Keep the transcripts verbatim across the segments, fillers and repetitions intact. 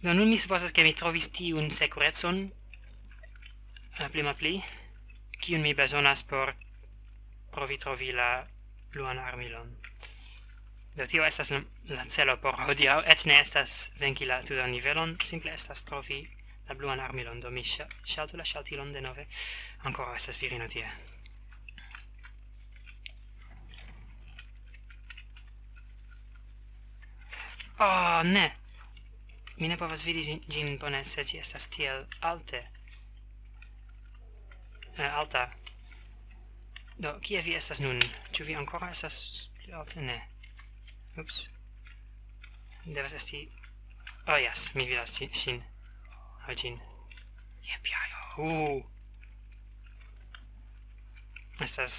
Do nun mi supozas, ke mi trovis tiun sekurecon, eh, pli malpli, kiun mi bezonas por provi trovi la bluan armilon. Do tio estas la, la celo por hodiaŭ, eĉ ne estas venki la tutan nivelon, simple estas trovi la bluan armilon. Do mi ŝa-, ŝaltu la ŝaltilon denove. Ankoraŭ estas virino tie. Oh, ne! Mi ne povas vidi ĝin, ĝin bone, se ĝi estas tiel alte. Eh, alta. Do, kie vi estas nun? Ĉu vi ankoraŭ estas pli alte? Ne. Ups. Devas esti... Oh, yes, mi vidas ĝi-, ŝin. Aŭ ĝin. Jep, ja, jo. Uh. Estas...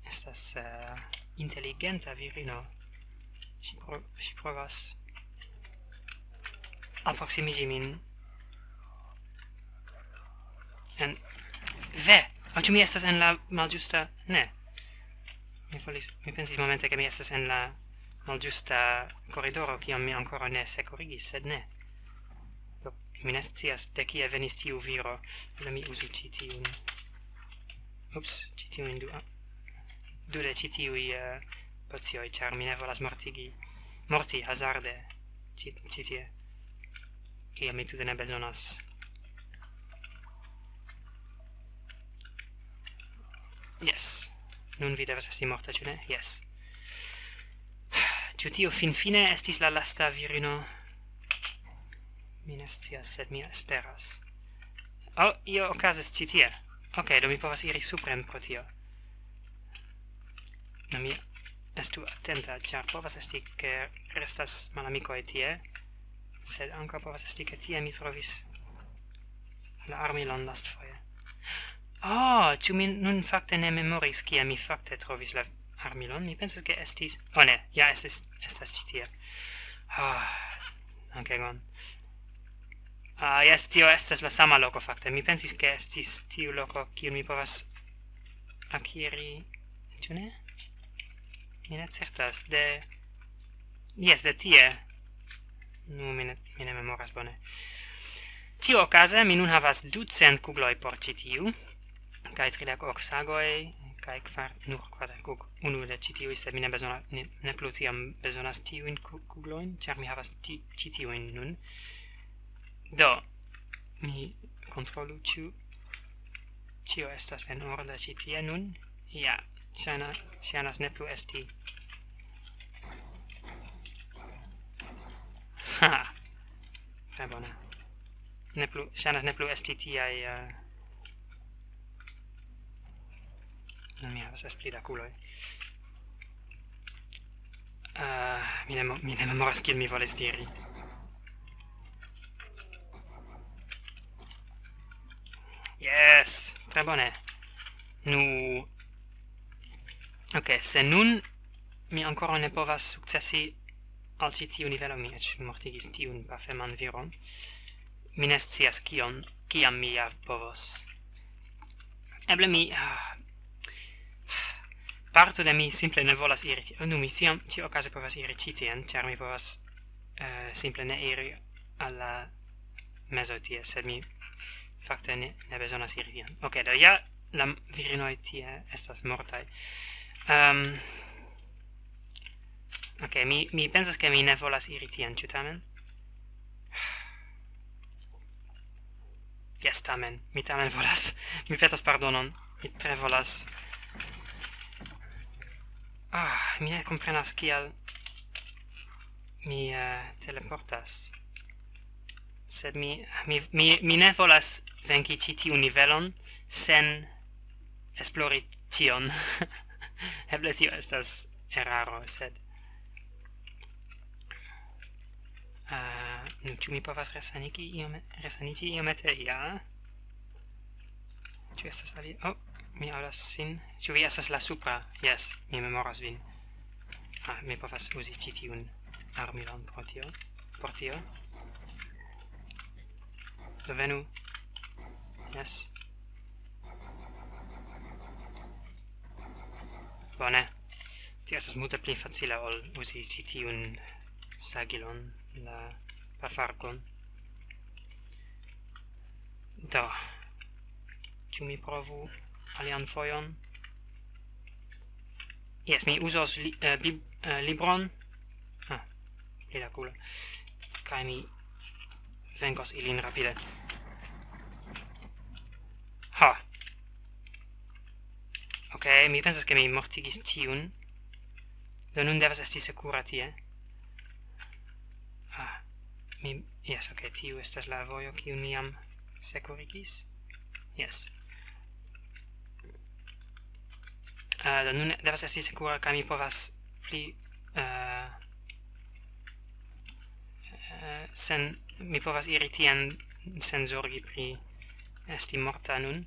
Estas, eh, inteligenta virino. Ŝi pro-, ŝi provas alproksimiĝi min. En... Ve! Aŭ ĉu mi estas en la malĝusta? Ne. Mi volis, mi pensis momente, ke mi estas en la malĝusta koridoro, kion mi ankoraŭ ne sekurigis, sed ne. Do, mi ne scias, de kie venis tiu viro. Eble mi uzu ĉi tiun. Ups, ĉi tiujn du-, du de ĉi tiuj, eh, pocioj, ĉar mi ne volas mortigi, morti hazarde ĉi, ĉi tie. Kiam mi tute ne bezonas. Yes. Nun vi devas esti morta, ĉu ne? Yes. Ĉu tio finfine estis la lasta virino? Mi ne scias, sed mi esperas. Oh, io okazas ĉi tie. Ok, do mi povas iri supren pro tio. Do mi estu atenta, ĉar povas esti, ke restas malamikoj tie, sed ankaŭ povas esti, ke tie mi trovis la armilon lastfoje. Oh, ĉu mi nun fakte ne memoris, kie mi fakte trovis la armilon? Mi pensas, ke estis... Oh, ne, ja estis, estas ĉi tie. Ah, dankegon. Ah, jes, tio estas la sama loko, fakte. Mi pensis, ke estis tiu loko, kiun mi povas akiri, ĉu ne? Mi ne certas. De... Jes, de tie. Nu, mi ne, mi ne memoras bone. Ĉiuokaze, mi nun havas ducent kugloj por ĉi tiu, kaj tridek ok sagoj, kaj kvar, nur kvardek ok unu de ĉi tiuj, sed mi ne bezona-, ne, ne plu tiam bezonas tiujn ku-, kuglojn, ĉar mi havas ti-, ĉi tiujn nun. Do, mi kontrolu, ĉu ĉio estas en ordo ĉi tie nun. Ja, ŝajna-, ŝajnas ne plu esti. Ha! Tre bone. Ne plu, ŝajnas ne plu esti tiaj, eh, nun mi havas des pli da kuloj. Eh, mi ne mo-, mi ne memoras, kiel mi volis diri. Yes! Tre bone. Nu. Ok, se nun mi ankoraŭ ne povas sukcesi al ĉi tiu nivelo, mi eĉ mortigis tiun pafeman viron. Mi ne scias kion, kiam mi ja povos. Eble mi, ah, parto de mi simple ne volas iri ti-, nu, mi ĉiam, ĉiuokaze povas iri ĉi tien, ĉar mi povas, eh, simple ne iri al la mezo tie, sed mi fakte ne, ne bezonas iri tien. Ok, do ja la m-, virinoj tie estas mortaj. Ehm, ok, mi, mi pensas, ke mi ne volas iri tien, ĉu tamen? Jes, tamen. Mi tamen volas. Mi petas pardonon. Mi tre volas. Ah, mi ne komprenas, kial mi, eh, teleportas. Sed mi, mi, mi, mi ne volas venki ĉi tiun nivelon sen esplori tion. Eble tio estas eraro, sed, eh, nu, ĉu mi povas resanigi iome-, resaniĝi iomete? Ja. Ĉu estas alia? Oh, mi aŭdas vin. Ĉu vi estas la supra? Jes, mi memoras vin. Ah, mi povas uzi ĉi tiun armilon pro tio. Por tio. Do venu. Jes. Bone. Tio estas multe pli facila ol uzi ĉi tiun sagilon. la pafarkon. Do, ĉu mi provu alian fojon? Jes, mi uzos li, eh, bib, eh, libron. Ah, pli da culo. Kaj mi venkos ilin rapide. Ha. Ok, mi pensas, ke mi mortigis tiun. Do nun devas esti sekura tie. Ah, mi, jes, ok, tiu estas la vojo, kiu mi jam sekurigis. Jes. Ah, do nun devas esti sekura, kaj mi povas pli, eh, eh, sen, mi povas iri tien sen zorgi pri esti morta nun.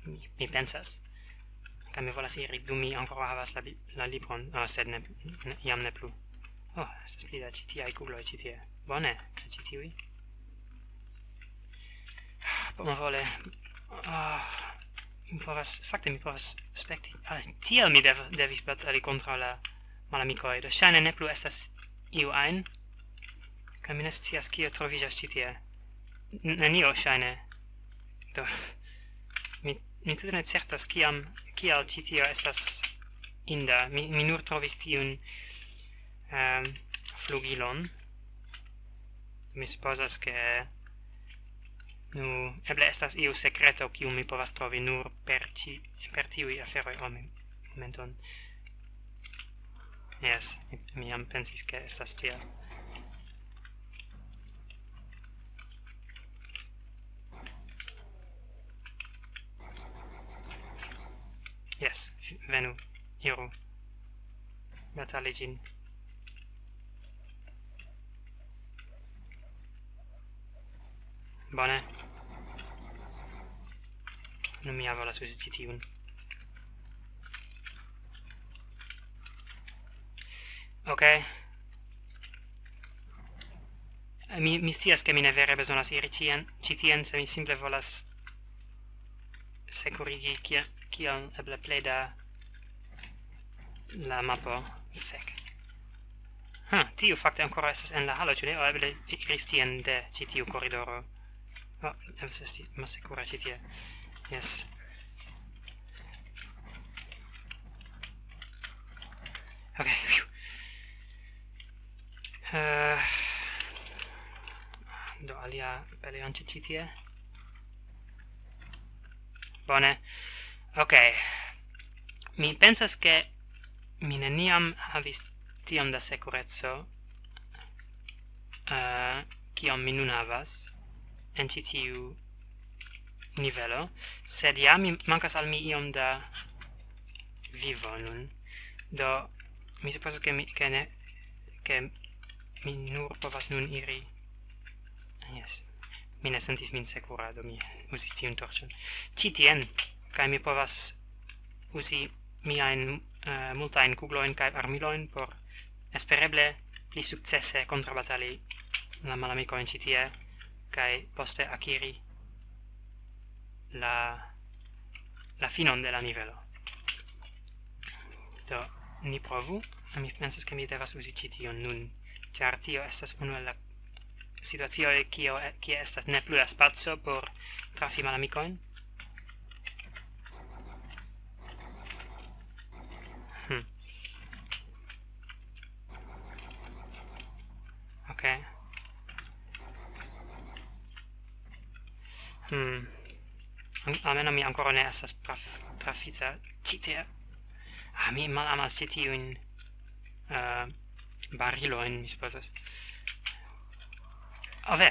Mi, mi pensas. Kaj mi volas iri, dum mi ankoraŭ havas la bi-, la libron. Ah, sed ne, ne, jam ne plu. Oh, estas pli da ĉi tiaj kugloj ĉi tie. Bone, kaj ĉi tiuj. Bonvole. Ah, mi povas, fakte mi povas spekti. Ah, tiel mi dev-, devis batali kontraŭ la malamikoj. Do ŝajne ne plu estas iu ajn. Kaj mi ne scias, kio troviĝas ĉi tie. N-, nenio ŝajne. Do, mi, mi tute ne certas, kiam, kial ĉi tio estas inda. Mi, mi nur trovis tiun, ehm, flugilon. Mi supozas, ke, nu, eble estas iu sekreto, kiu mi povas trovi nur per ĉi, per tiuj aferoj. Oh, mi, momenton. Jes, mi, mi jam pensis, ke estas tiel. Jes, fi-, venu, iru. Batali ĝin. Bone. Nun mi ja volas uzi ĉi tiun. Ok. Mi, mi scias, ke mi ne vere bezonas iri ĉien, ĉi tien, se mi simple volas sekurigi, kie-, kiel eble plej da la mapo. Fek. Ha, tiu fakte ankoraŭ estas en la halo, ĉu ne? O eble iris tien de ĉi tiu koridoro. Oh, devas esti malsekura ĉi tie. Jes. Ok, fiu. Eh, do alia peleonto ĉi tie. Bone. Ok. Mi pensas, ke mi neniam havis tiom da sekureco, eh, kiom mi nun havas en ĉi tiu nivelo, sed ja mi, mankas al mi iom da vivo nun. Do, mi supozas, ke mi, ke ne, ke mi nur povas nun iri. Jes. Mi ne sentis min sekura, do mi uzis tiun torĉon. Ĉi tien, kaj mi povas uzi miajn, eh, multajn kuglojn kaj armilojn por espereble pli sukcese kontrabatali la malamikojn ĉi tie, kaj poste akiri la, la finon de la nivelo. Do, ni provu. Mi pensas, ke mi devas uzi ĉi tion nun, ĉar tio estas unu el la situacioj, kio, kie estas ne plu da spaco por trafi malamikojn. Hm. Ok. Hm. An-, almenaŭ mi ankoraŭ ne estas traf-, trafita ĉi tie. Ah, mi malamas ĉi tiujn, eh, barilojn, mi supozas. Oh ve,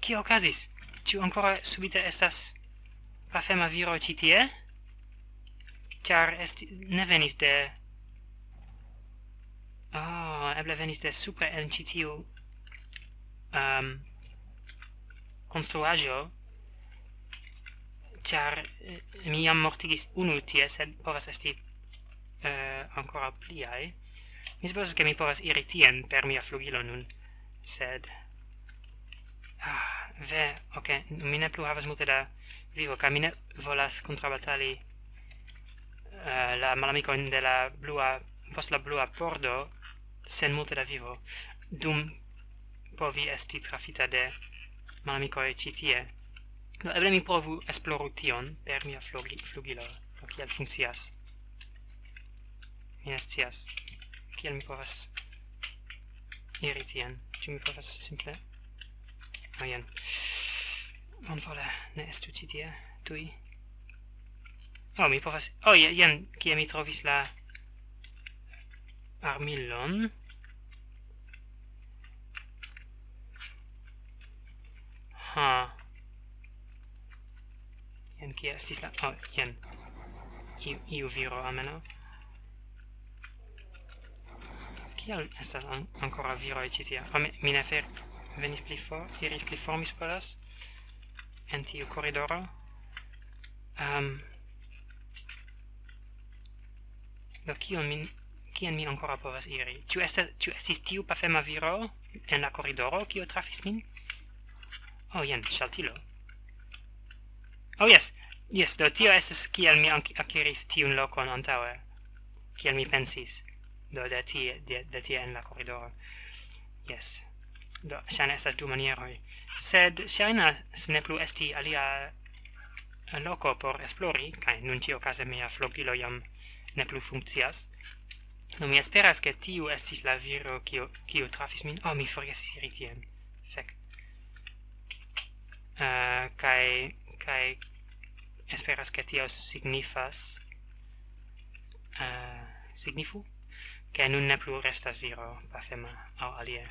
kio okazis? Ĉu ankoraŭ subite estas pafema viro ĉi tie? Ĉar esti-, ne venis de, oh, eble venis de supre en ĉi tiu, ehm, konstruaĵo, ĉar, eh, mi jam mortigis unu tie, sed povas esti, eh, ankoraŭ pliaj. Mi supozas, ke mi povas iri tien per mia flugilo nun, sed, ah, ve, ok, mi ne plu havas multe da vivo, kaj mi ne volas kontrabatali, eh, la malamikojn de la blua, post la blua pordo, sen multe da vivo. Dum povi esti trafita de malamikoj ĉi tie. Do eble mi provu esploru tion per mia flugi-, flugilo. Do kiel funkcias? Mi ne scias. Kiel mi povas iri tien? Ĉu mi povas simple... Ah, jen. Bonvole, ne estu ĉi tie. Tuj. Oh, mi povas... Oh, je-, jen, kie mi trovis la armilon. Ha. Jen kie estis la... Oh, jen. Iu, iu viro almenaŭ. Kial estas an-, ankoraŭ viroj ĉi tie? Oh, mi, mi ne fer-, venis pli for, iris pli for, mi supozas, en tiu koridoro. Ehm, do kion mi, kien mi ankoraŭ povas iri? Ĉu esta-, ĉu estis tiu pafema viro en la koridoro, kiu trafis min? Oh, jen, ŝaltilo. Oh, jes. Jes, do tio estas kiel mi anki-, akiris tiun lokon antaŭe. Kiel mi pensis. Do de tie, de, de tie en la koridoro. Jes. Do, ŝajne estas du manieroj. Sed ŝajnas ne plu esti alia loko por esplori, kaj nun ĉiuokaze mia flugilo jam ne plu funkcias. Do mi esperas, ke tiu estis la viro, kiu, kiu trafis min. Oh, mi forgesis iri tien. Fek. Eh, kaj, kaj esperas, ke tio signifas, eh, signifu, ke nun ne plu restas viro pafema aŭ alie.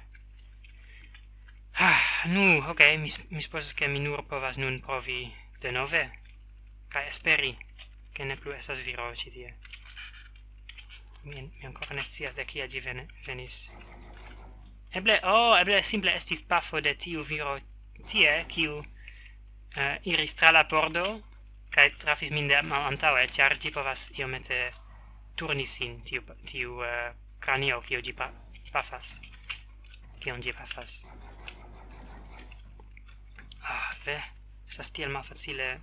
Ah, nu, ok, mi s-, mi supozas, ke mi nur povas nun provi denove, kaj esperi, ke ne plu estas viro ĉi tie. Mi, mi ankoraŭ ne scias, de kie ĝi vene-, venis. Eble, oh, eble simple estis pafo de tiu viro tie, kiu, eh, iris tra la pordo, kaj trafis min de malantaŭe, ĉar ĝi povas iomete turni sin, tiu, tiu, eh, kranio, kiu ĝi pa-, pafas. Kion ĝi pafas. Ah, ve, estas tiel malfacile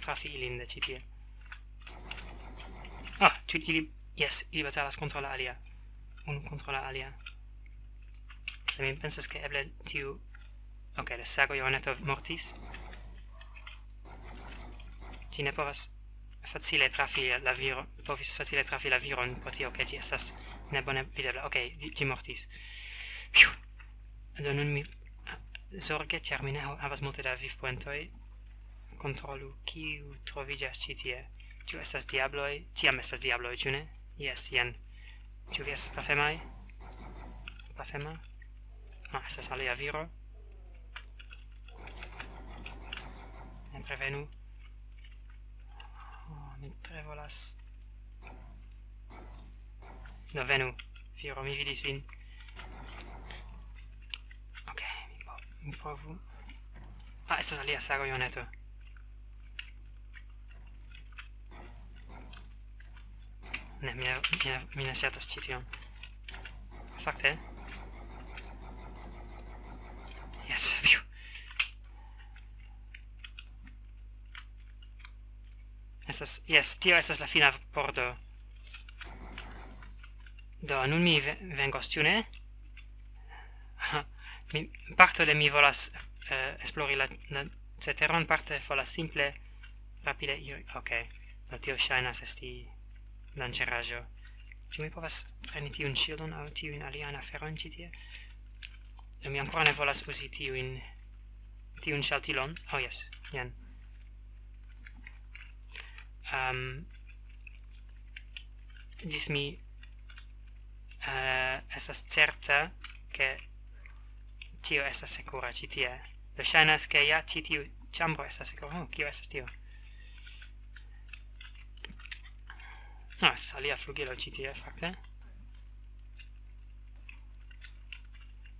trafi ilin de ĉi tie. Ah, ĉu ili, jes, ili batalas kontraŭ la alia. Unu kontraŭ la alia. Se mi pensas, ke eble tiu... Ok, la sago Joaneto mortis. Ĝi ne povas facile trafi la viro-, povis facile trafi la viron, pro tio, ke ĝi estas nebone videbla. Ok, ĝi, ĝi mortis. Fiu. Do nun mi, zorge, ĉar mi ne ha-, havas multe da vivpoentoj, kontrolu, kiu troviĝas ĉi tie. Ĉu estas diabloj? Ĉiam estas diabloj, ĉu ne? Jes, jen. Ĉu vi estas pafemaj? Pafema? Ah, estas alia viro. Ne prevenu. Oh, mi tre volas. Do venu, viro, mi vidis vin. Ok, mi po-, mi provu. Ah, estas alia sago, Joaneto. Ne, mi ne, mi ne, mi ne ŝatas ĉi tion. Fakte. Jes, fiu. Estas, jes, tio estas la fina pordo. Do, nun mi ve-, venkos, ĉu ne? Mi, parto de mi volas, eh, esplori la, la ceteron, parte volas simple rapide iri. Ok, do tio ŝajnas esti danĝeraĵo. Ĉu mi povas preni tiun ŝildon aŭ tiujn aliajn aferojn ĉi tie? Do mi ankoraŭ ne volas uzi tiujn, tiun ŝaltilon. Oh, jes, jen. Ehm, ĝis mi, eh, estas certa, ke tio estas sekura ĉi tie. Do ŝajnas, ke ja ĉi tiu ĉambro estas sekura. Oh, kio estas tio? Ah, estas alia flugilo ĉi tie, fakte.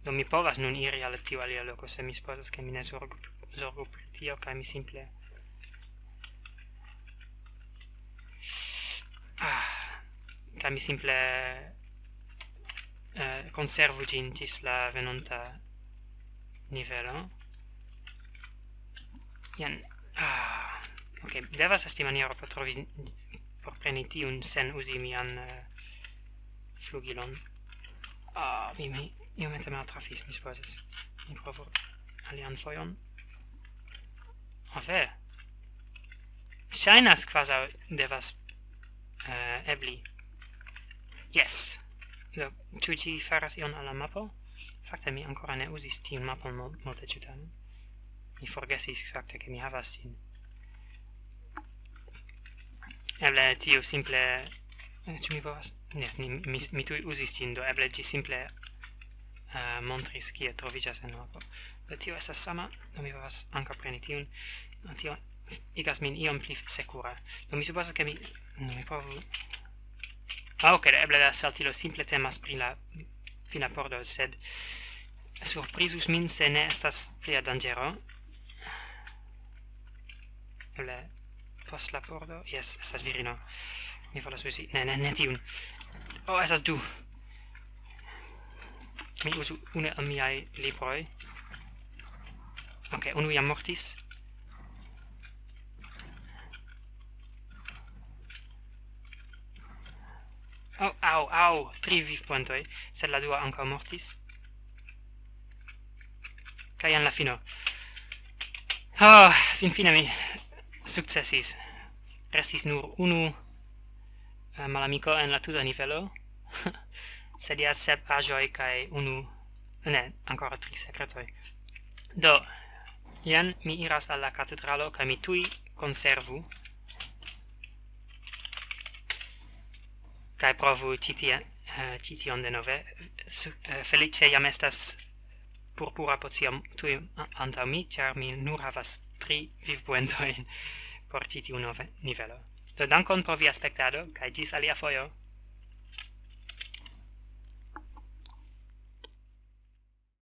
Do mi povas nun iri al tiu alia loko, se mi supozas, ke mi ne zorgu, zorgu pri tio, kaj mi simple... Ah, kaj mi simple, eh, konservu ĝin ĝis la venonta nivelo. Jen. Ah, ok, devas esti maniero por trovi, por preni tiun sen uzi mian, eh, flugilon. Ah, mi, mi, Iomete maltrafis, mi supozas. Mi provu alian fojon. Ho, ve. Ŝajnas kvazaŭ devas, eh, ebli. Yes. Do, ĉu ĝi faras ion al la mapo? Fakte mi ankoraŭ ne uzis tiun mapon mul-, multe, ĉu tamen? Mi forgesis fakte, ke mi havas ĝin. Eble tio simple, eh, ĉu mi povas? Ne, mi, mi, mi tuj uzis ĝin, do eble ĝi simple, eh, montris, kie troviĝas en la mapo. Do tio estas sama, do mi povas ankaŭ preni tiun. Do tio igas min iom pli sekura. Do mi supozas, ke mi, no, mi provu. Ah, ok, eble la saltilo simple temas pri la fina pordo, sed surprizus min, se ne estas plia danĝero. Eble post la pordo? Jes, estas virino. Mi volas uzi. Ne, ne, ne tiun. Oh, estas du. Mi uzu unu el miaj libroj. Ok, unu jam mortis. Oh, au, au, tri vivpuntoj, sed la dua ankaŭ mortis. Kaj en la fino. Oh, finfine mi sukcesis. Restis nur unu, eh, malamiko en la tuta nivelo. Sed ja sep aĵoj kaj unu, ne, ankoraŭ tri sekretoj. Do, jen mi iras al la katedralo kaj mi tuj konservu. Kaj provu ĉi tie, eh, ĉi tion denove. Su-, eh, feliĉe jam estas purpura pocio tuj a-, antaŭ mi, ĉar mi nur havas tri vivpuentojn por ĉi tiu nove nivelo. Do dankon pro via spektado, kaj ĝis alia fojo.